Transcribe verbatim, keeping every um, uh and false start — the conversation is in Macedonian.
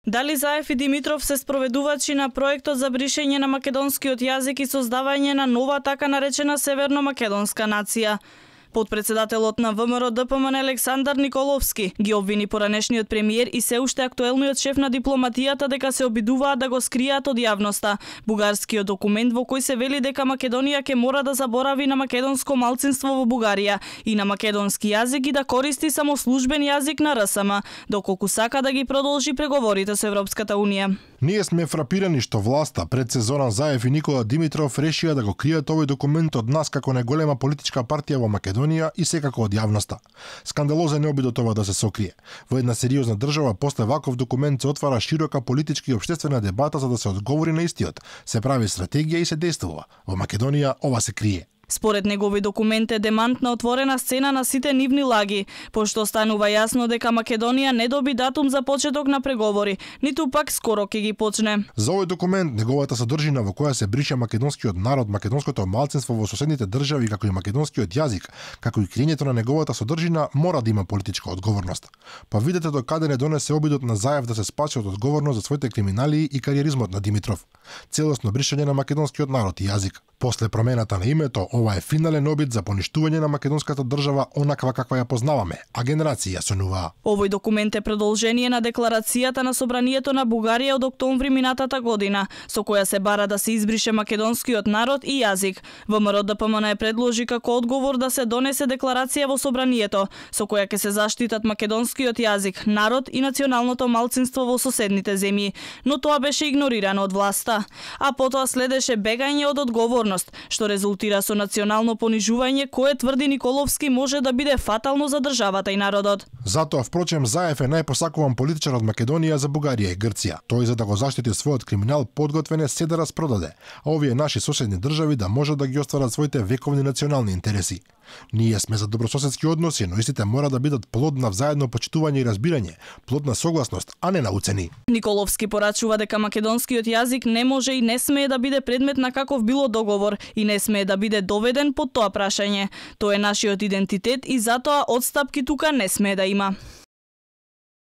Дали Заев и Димитров се спроведувачи на проектот за бришење на македонскиот јазик и создавање на нова така наречена северно-македонска нација? Подпредседателот на ВМРО-ДПМН Александар Николовски ги обвини поранешниот премиер и се уште актуелниот шеф на дипломатијата дека се обидуваат да го скријат од јавноста бугарскиот документ во кој се вели дека Македонија ќе мора да заборави на македонско малцинство во Бугарија и на македонски јазик и да користи само службен јазик на РСМ, доколку сака да ги продолжи преговорите со Европската унија. Ние сме фрапирани што власта пред се Зоран Заев и Никола Димитров решија да го кријат овој документ од нас како најголема политичка партија во Македонија и секако од јавноста. Скандалозен е обидот ова да се сокрие. Во една сериозна држава после ваков документ се отвара широка политичка и општествена дебата за да се одговори на истиот. Се прави стратегија и се действува. Во Македонија ова се крие. Според негови документ е демант на отворена сцена на сите нивни лаги, пошто станува јасно дека Македонија не доби датум за почеток на преговори, ниту пак скоро ќе ги почне. За овој документ, неговата содржина во која се брише македонскиот народ, македонското малцинство во соседните држави, како и македонскиот јазик, како и криењето на неговата содржина, мора да има политичка одговорност. Па видете до каде не донесе обидот на Заев да се спаси од одговорност за своите криминали и кариеризмот на Димитров. Целосно бришење на македонскиот народ и јазик. После промената на името, ова е финален обид за поништување на македонската држава онаква каква ја познаваме, а генерации ја сонуваа. Овој документ е продолжение на декларацијата на Собранието на Бугарија од октомври минатата година, со која се бара да се избрише македонскиот народ и јазик. ВМРО-ДПМН е предложи како одговор да се донесе декларација во Собранието, со која ќе се заштитат македонскиот јазик, народ и националното малцинство во соседните земји, но тоа беше игнорирано од власта. А потоа следеше бегање од одговор, што резултира со национално понижување кое тврди Николовски може да биде фатално за државата и народот. Затоа, впрочем, Заев е најпосакуван политичар од Македонија за Бугарија и Грција. Тој за да го заштити својот криминал подготвен е се да распродаде, а овие наши соседни држави да можат да ги остварат своите вековни национални интереси. Ние сме за добрососедски односи, но истите мора да бидат плод на взаедно почитување и разбирање, плод на согласност, а не на уцени. Николовски порачува дека македонскиот јазик не може и не смее да биде предмет на каков било договор и не смее да биде доведен под тоа прашање. Тоа е нашиот идентитет и затоа одстапки тука не смее да има.